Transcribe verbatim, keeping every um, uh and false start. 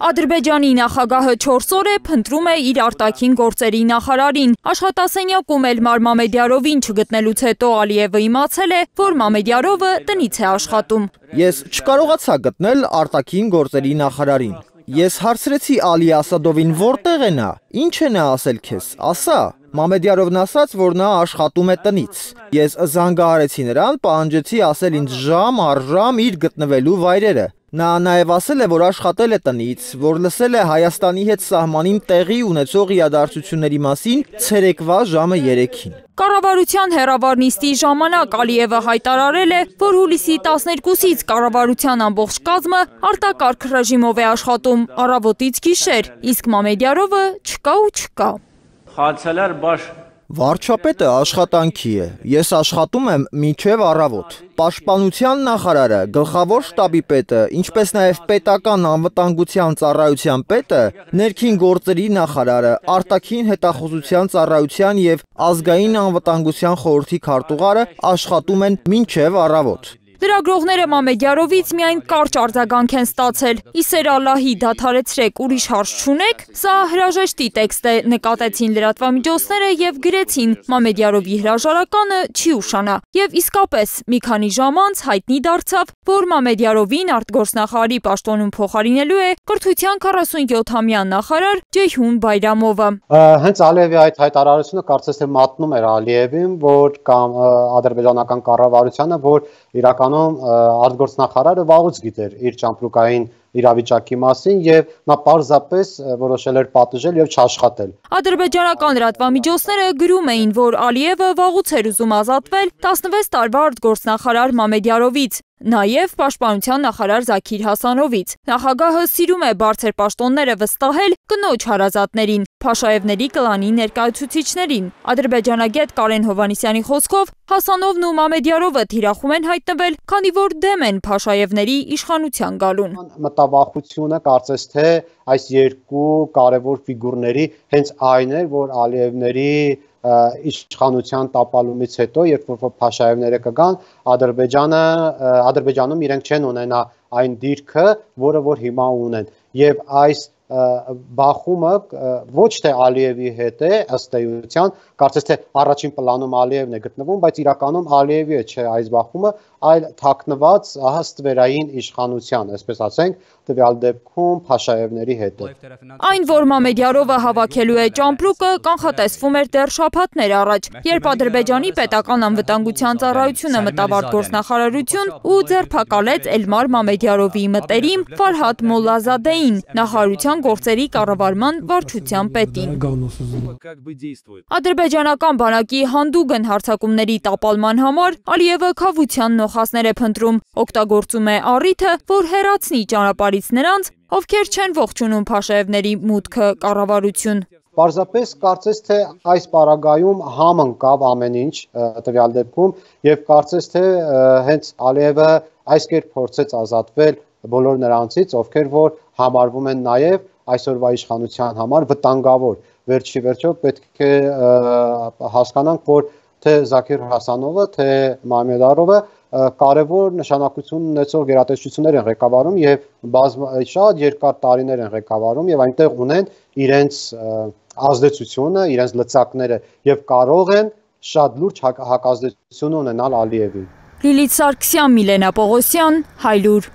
Ադրբեջանի նախագահը չորս օր է փնտրում է իր արտաքին գործերի նախարարին։ Աշխատասենյակում Էլմար Մամեդյարովին չգտնելուց հետո Ալիևը իմացել է, որ Մամեդյարովը տնից է աշխատում։ Ես չկարողացա գտնել արտաքին գործերի նախարարին։ Ես հարցրեցի Ալի Ասադովին, որտեղ է նա, ինչ է նա ասել քեզ, ասա։ Մամեդյարովն ասաց, որ նա աշխատում է տնից։ Ես զանգահարեցի նրան, պահանջեցի ասել ինձ ժամ առ ժամ իր գտնվելու վայրերը։ Նա նաև ասել է, որ աշխատել է տնից, որ լսել է Հայաստանի հետ սահմանին տեղի ունեցող իրադարձությունների մասին ցերեկվա ժամը երեքին։ Կառավարության հեռավար նիստի ժամանակ Ալիևը հայտարարել է, որ հուլիսի տասներկուսից կառավարության ամբողջ կազմը արտակարգ ռեժիմով է աշխատում առավոտից գիշեր, իսկ Մամեդյարովը չկա ու չկա։ Խացելար բաշ Վարչապետը աշխատանքի է, ես աշխատում եմ մինչև առավոտ։ Պաշտպանության նախարարը, գլխավոր շտաբի պետը, ինչպես նաև պետական անվտանգության ծառայության պետը, ներքին գործերի նախարարը, արտաքին հետախուզության ծառայության և ազգային անվտանգության խորհրդի քարտուղարը աշխատում են մինչև առավոտ։ Լրագրողները Մամեդյարովից միայն կարճ արձագանք են ստացել։ Իսեր Ալլահի դադարեցրեք, ուրիշ հարց չունեք։ Սա հրաժեշտի տեքստ է, նկատեցին լրատվամիջոցները եւ գրեցին Մամեդյարովի հրաժարականը չի ուշանա։ Եվ իսկապես մի քանի ժամ անց հայտնի դարձավ, որ Մամեդյարովին արտգործնախարարի պաշտոնում փոխարինելու է կրթության քառասունյոթամյա նախարար Ջեյհուն Բայրամովը։ Հենց Ալիևի այդ հայտարարությունը կարծես թե մատնում էր Ալիևին, որ կամ ադրբեջանական կառավարությանը, որ իրականում արտգործնախարարը վաղուց գիտեր իր ճամպրուկային իրավիճակի մասին եւ նա պարզապես որոշել էր պատժել եւ չաշխատել։ Ադրբեջանական լրատվամիջոցները գրում էին, որ Ալիևը վաղուց էր ուզում ազատվել տասնվեց տարվա արտգործնախարար Մամեդյարովից, նաև պաշտպանության նախարար Զաքիր Հասանովից։ Նախագահը սիրում է բարձր պաշտոնները վստահել կնոջ հարազատներին, Փաշաևների կլանի ներկայացուցիչներին։ Ադրբեջանագետ Կարեն Հովհաննիսյանի խոսքով Հասանովն ու Մամեդյարովը թիրախում են հայտնվել, քանի որ դեմ են Փաշաևների իշխանության գալուն։ Մտավախությունը կարծես թե այս երկու կարևոր ֆիգուրների հենց այն էր, որ Ալիևների իշխանության տապալումից հետո, երբ որ Փաշաևները կգան, Ադրբեջանը Ադրբեջանում իրենք չեն ունենա այն դիրքը, որը որ հիմա ունեն, եւ այս բախումը ոչ թե Ալիևի հետ է, ըստ էության, կարծես թե առաջին պլանում Ալիևն է գտնվում, բայց իրականում Ալիևի է չէ այս բախումը, այլ թաքնված հստվերային իշխանության, այսպես ասենք, տվյալ դեպքում Փաշաևների հետ է։ Այն, որ Մամեդյարովը հավաքելու է ճամպրուկը, կանխատեսվում էր դեռ շաբաթներ առաջ, երբ Ադրբեջանի պետական անվտանգության ծառայությունը մտավ արտգործնախարարություն ու ձերբակալեց Էլմար Մամեդյարովի մտերիմ Ֆարհադ Մոլլազադեին, նախարարության գործերի կառավարման վարչության պետին։ Ադրբեջանական բանակի հանդուգն հարձակումների տապալման համար Ալիևը քավության նոխազներ է փնտրում, օգտագործում է առիթը, որ հեռացնի ճանապարհից նրանց, ովքեր չեն ողջունում Փաշաևների մուտքը կառավարություն։ Պարզապես կարծես թե այս պարագայում համընկավ ամեն ինչ տվյալ դեպքում եւ կարծես թե հենց Ալիևը այս կերպ փորձեց ազատվել բոլոր նրանցից, ովքեր որ համարվում են նաեւ այսօրվա իշխանության համար վտանգավոր։ Վերջի վերջո պետք է հասկանանք, որ թե Զաքիր Հասանովը, թե Մամեդյարովը կարևոր նշանակություն ունեցող գերատեսչություններ են ղեկավարում եւ շատ երկար տարիներ են ղեկավարում եւ այնտեղ ունեն իրենց ազդեցությունը, իրենց լծակները եւ կարող են շատ լուրջ հակազդեցություն ունենալ Ալիևին։ Լիլիթ Սարգսյան, Միլենա Պողոսյան, Հայլուր։